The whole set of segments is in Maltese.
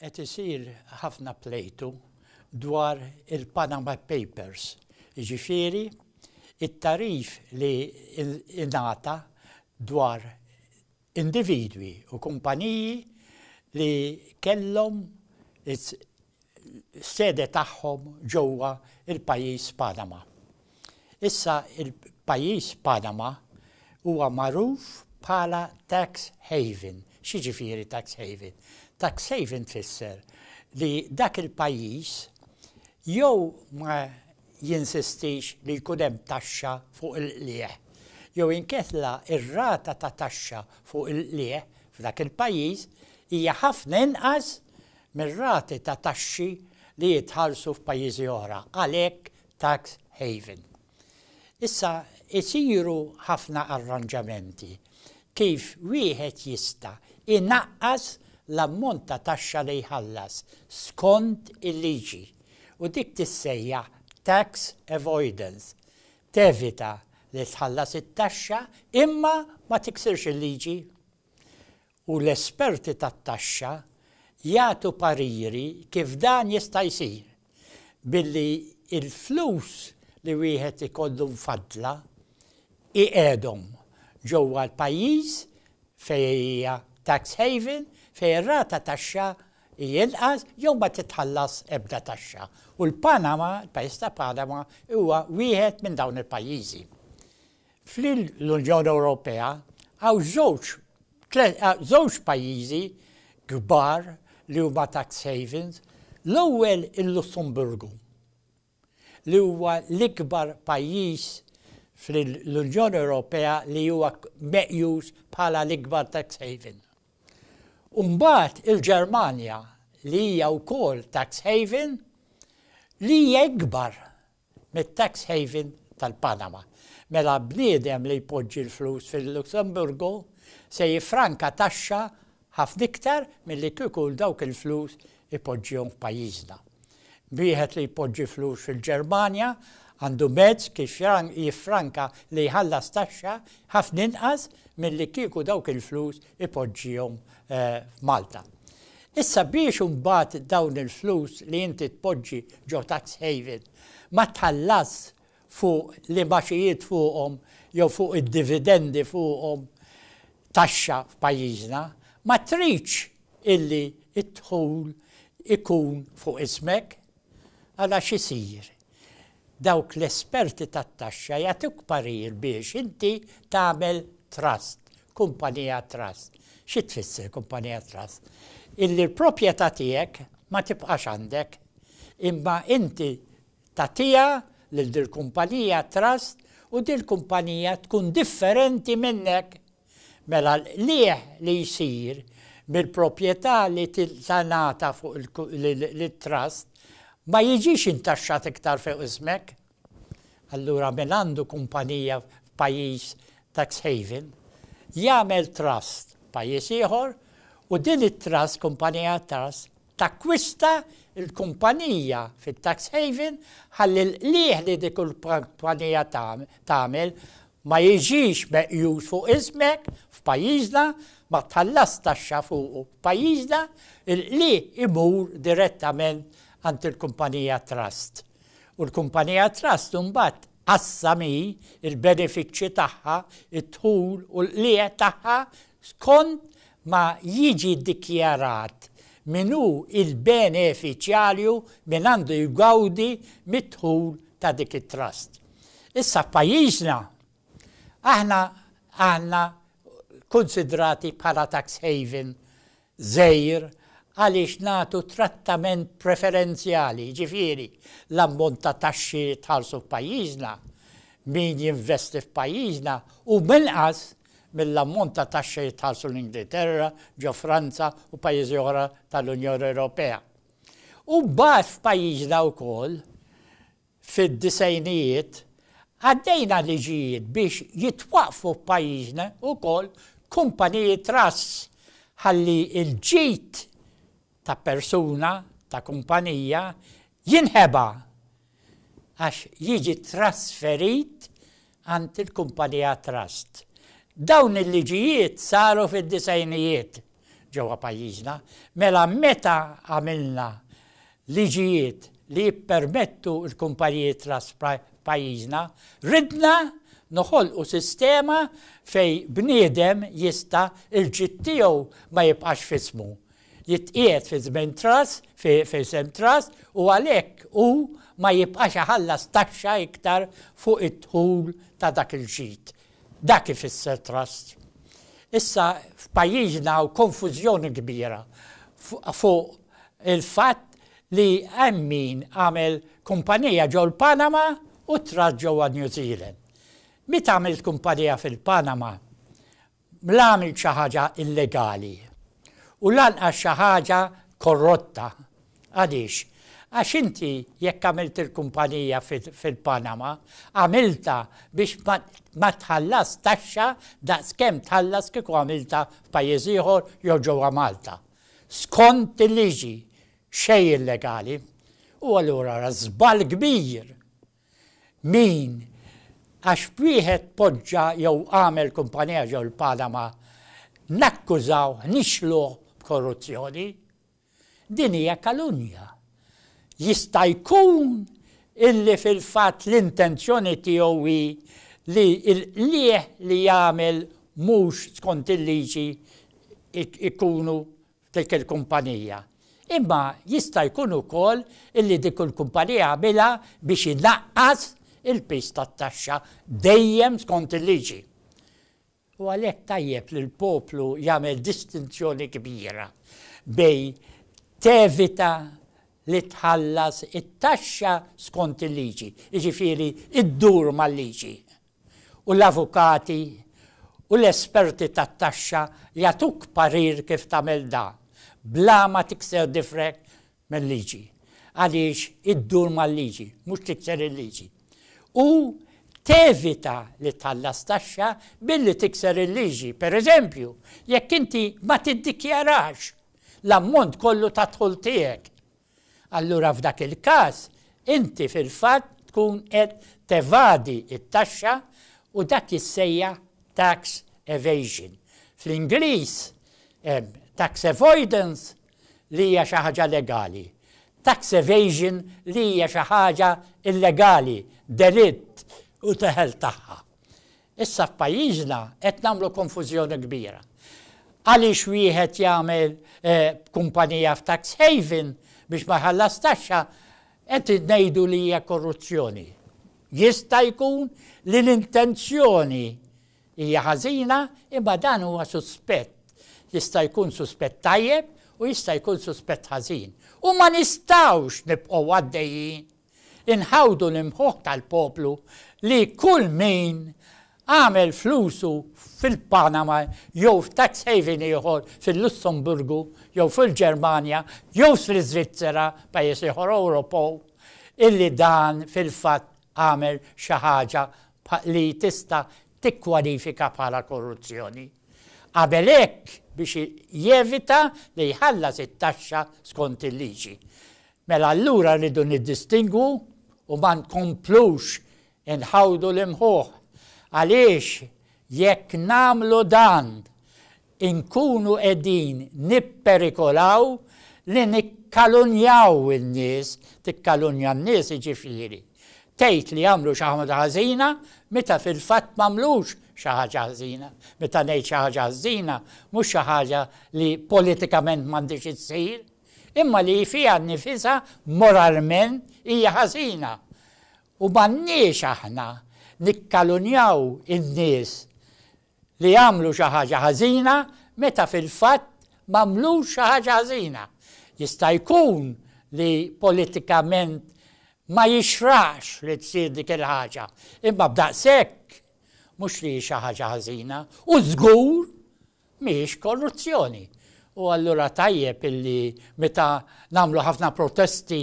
Qed isir ħafna plejtu dwar il-Panama Papers, jiġifieri t-tagħrif li ingħata dwar individwi u kumpaniji li kellhom is-sede tagħhom ġewwa l-pajjiż Panama. Issa il-pajjiż Panama huwa magħruf bħala tax haven. X'jiġifieri tax haven? Tax haven tfisser li dak il-pajjiż jew ma jinsistix li jkun hemm taxxa fuq il-qligħ jew inkella r-rata ta' taxxa fuq il-qligħ f'dak il-pajjiż hija ħafna inqas mir-rati ta' taxxi li jitħallsu f'pajjiżi oħra, għalhekk tax haven. Issa isiru ħafna arranġamenti kif wieħed jista' jnaqqas l-ammont ta' taxxa li jħallas skont il-liġi u dik tissejjaħ tax avoidance, tevita li tħallas it-taxxa imma ma tiksirx il-liġi. U l-esperti tat-taxxa jagħtu pariri kif dan jista' jsir, billi l-flus li wieħed ikollu mfaddla iqiegħdhom ġewwa l-pajjiż fejn hija tax haven, fejn ir-rata taxxa hi inqas jew ma titħallas ebda taxxa. U l-Panama, il-pajjiż ta' Panama huwa wieħed minn dawn il-pajjiżi. Fl-Unjoni Ewropea hawn żewġ żewġ pajjiżi kbar li huma tax havens, l-ewwel il-Lussemburgu li huwa l-ikbar pajjiż fl-Unjoni Ewropea li huwa meqjus bħala l-ikbar tax haven. U mbagħad il-Ġermanja li hija wkoll tax haven li hija ikbar mit-tax haven tal-Panama. Mela bniedem li jpoġġi l-flus fil-Lussemburgu se jiffranka taxxa ħafna iktar milli kieku dawk il-flus ipoġġihom f'pajjiżna. Wieħed li jpoġġi flus fil-Ġermanja għandu mezz kif jiffranka li jħallas taxxa ħafna inqas milli kieku dawk il-flus ipoġġihom f'Malta. Issa biex imbagħad dawn il-flus li inti tpoġġi ġo tax haven ma tħallasx fuq l-imgħaxijiet fuqhom jew fuq id-dividendi fuqhom taxxa f'pajjiżna, ma tridx illi d-dħul ikun fuq ismek. Għala x'isir? Dawk l-esperti tat-taxxa jagħtuk parir biex inti tagħmel trust, kumpanija trust. Xi tfisser kumpanija trust? Illi l-proprjetà tiegħek ma tibqax għandek, imma inti tagħtiha lil dil-kumpanija trust u dil-kumpanija tkun differenti minnek. Mela l-qligħ li jsir mill-proprjetà li tingħata fuq lit-trust ma jiġix intaxxat iktar fuq ismek. Allura min għandu kumpanija f'pajjiż tax haven jagħmel trust f'pajjiż ieħor u din it-trust, kumpanija trust, takkwista l-kumpanija fit-tax haven ħalli l-qligħ li dik il-kumpanija tagħmel ma jiġix meqjus fuq ismek f'pajjiżna, ma tħallas taxxa fuqu f'pajjiżna, il-qligħ imur direttament għand il-kumpanija trust. U l-kumpanija trust imbagħad tqassam hi l-benefiċċji tagħha, id-dħul u l-qligħ tagħha skont ma jiġi ddikjarat min hu l-benefiċjarju min għandu jgawdi mid-dħul ta' dik it-trust. Issa f'pajjiżna aħna għandna kunsidrati bħala tax haven żgħir għaliex nagħtu trattament preferenzjali, jiġifieri l-ammont ta' taxxi li jitħallsu f'pajjiżna, min jinvesti f'pajjiżna hu inqas mill-ammont ta' taxxi li jitħallsu l-Ingilterra, ġo Franza u pajjiżi oħra tal-Unjoni Ewropea. U mbagħad f'pajjiżna wkoll Fid-disgħinijiet, għaddejna liġijiet biex jitwaqqfu f'pajjiżna wkoll kumpaniji trusts ħalli l-ġid ta' persuna, ta' kumpanija, jinħeba għax jiġi trasferit għand il-kumpanija trust. Dawn il-liġijiet saru fid-disgħinijiet. ġewwa pajjiżna. Mela meta għamilna liġijiet li jippermettu l-kumpaniji trust f'pajjiżna, ridna noħolqu sistema fejn bniedem jista' l-ġid tiegħu ma jibqax f'ismu. Jitqiegħed fi żmien trust, f'isem trust u għalhekk hu ma jibqax iħallas taxxa iktar fuq id-dħul ta' dak il-ġid. Dak ifisser trust. Issa f'pajjiżna hawn konfużjoni kbira fuq il-fatt li hemm min għamel kumpanija ġol-Panama u trust ġewwa New Zealand. Meta għamilt kumpanija fil-Panama, la għamilt xi ħaġa illegali u lanqas xi ħaġa korrotta. Għaliex? Għax inti jekk għamilt il-kumpanija fil-Panama, għamiltha biex ma tħallas taxxa daqs kemm tħallas kieku għamiltha f'pajjiż ieħor jew ġewwa Malta. Skont il-liġi, xejn illegali. U allura ra żball kbir Min, għax wieħed poġġa jew għamel kumpanija ġew il-Panama, nakkużawh, nixluh b'korruzzjoni. Din hija kalunja. Jista' jkun illi fil-fatt l-intenzjoni tiegħu hi li l-qligħ li jagħmel mhux skont il-liġi ikunu f'dik il-kumpanija. Imma jista' jkun ukoll illi dik il-kumpanija għamilha biex inaqqas il-piż tat-taxxa dejjem skont il-liġi. U għalhekk tajjeb li l-poplu jagħmel distinzjoni kbira bejn tevita li tħallas it-taxxa skont il-liġi, jiġifieri ddur mal-liġi, u l-avukati u l-esperti tat-taxxa jagħtuk parir kif tagħmel dan bla ma tikser difrek mil-liġi, għaliex iddur mal-liġi, mhux tikser il-liġi. U tevita li tħallas taxxa billi tikser il-liġi. Per eżempju, jekk inti ma tiddikjarax l-ammont kollu tad-dħul tiegħek, Allura f'dak il-każ inti fil-fatt tkun qed tevadi t-taxxa u dak jissejjaħ tax evasion. Fl-Ingliż hemm tax avoidance li hija xi ħaġa legali, tax evasion li hija xi ħaġa illegali, delitt u teħel tagħha. Issa f'pajjiżna qed nagħmlu konfużjoni kbira. Għaliex wieħed jagħmel kumpanija f'tax haven biex ma jħallas taxxa qed ngħidu li hija korruzzjoni. Jista' jkun li l-intenzjoni hija ħażina imma dan huwa suspett. Jista' jkun suspett tajjeb u jista' jkun suspett ħażin. U ma nistgħux nibqgħu għaddejjin Inħawdu l-imħuħ tal-poplu li kull min għamel flusu fil-Panama jew f'tax haven ieħor fil-Lussemburgu jew fil-Ġermanja jew fl-Iżvizzera, pajjiż ieħor Ewropew, illi dan fil-fatt għamel xi ħaġa li tista' tikkwalifika bħala korruzzjoni. Qabel hekk biex jevita li jħallas it-taxxa skont il-liġi. Mela allura rridu niddistingwu u ma nkomplux inħawdu l-imħuħ għaliex jekk nagħmlu dan inkunu qegħdin nipperikolaw li nikkalunjaw in-nies, tikkalunja n-nies jiġifieri tgħid li għamlu xi ħaġa ħażina meta fil-fatt m'għamlux xi ħaġa ħażina. Meta ngħid xi ħaġa ħażina mhux xi ħaġa li politikament m'għandhiex issir, imma li fiha nnifisha moralment hija ħażina. U m'għandniex aħna nikkalunjaw in-nies li għamlu xi ħaġa ħażina meta fil-fatt m'għamlux xi ħaġa ħażina. Jista' jkun li politikament ma jixraqx li tsir dik il-ħaġa, imma b'daqshekk mhux li hi xi ħaġa ħażina u żgur Mhijiex korruzzjoni. U allura tajjeb illi meta nagħmlu ħafna protesti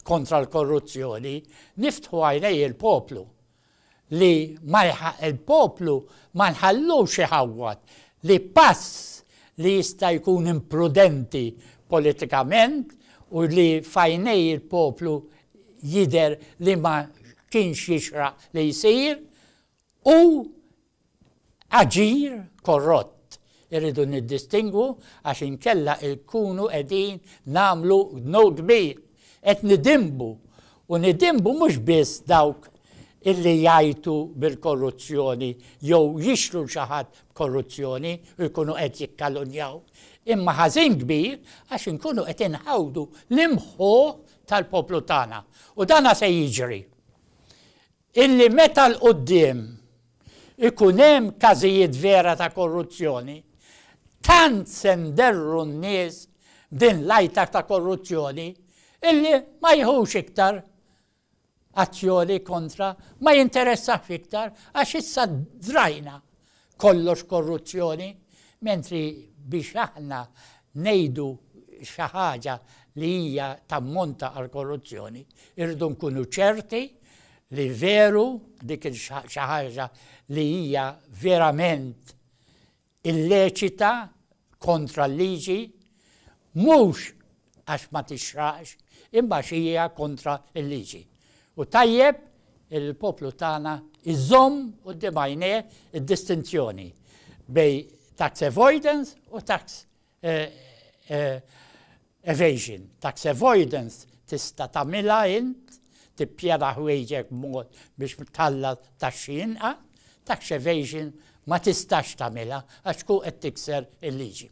kontra l-korruzzjoni, niftħu għajnej il-poplu li ma il-poplu ma nħallux iħawwad li pass li jista' jkun imprudenti politikament u li f'għajnej il-poplu jidher li ma kienx jixraq li jsir u aġir korrott. Irridu niddistingwu għax inkella nkunu qegħdin nagħmlu dnub kbir. Qed nidinbu u nidinbu mhux biss dawk illi jgħajtu bil-korruzzjoni jew jixlu 'l xi ħadd b'korruzzjoni u jkunu qed jikkalunjaw, imma ħażin kbir għax inkunu qed inħawdu l-imħuħ tal-poplu tagħna. U dana se jiġri. Illi meta 'l quddiem ikun hemm każijiet vera ta' korruzzjoni, tant se nderru n-nies b'din l-għajta ta' korruzzjoni illi ma jiħux iktar azzjoni kontra, ma jinteressax iktar għax issa drajna kollox korruzzjoni, mentri biex aħna ngħidu xi ħaġa li hija tammonta għal korruzzjoni, irridu nkunu ċerti li veru dik xi ħaġa li hija verament illeċita kontra l-liġi, mhux għax ma tixraqx, imma għax hija kontra l-liġi. U tajjeb il-poplu tagħna iżomm quddiem għajnejh id-distinzjoni bejn tax avoidance u tax eh, eh, evasion. Tax avoidance tista' tagħmilha int, tippjana ħwejġek b'mod biex tħallas taxxi inqas, tax evasion ma tistax tagħmilha għax tkun qed tikser il-liġi.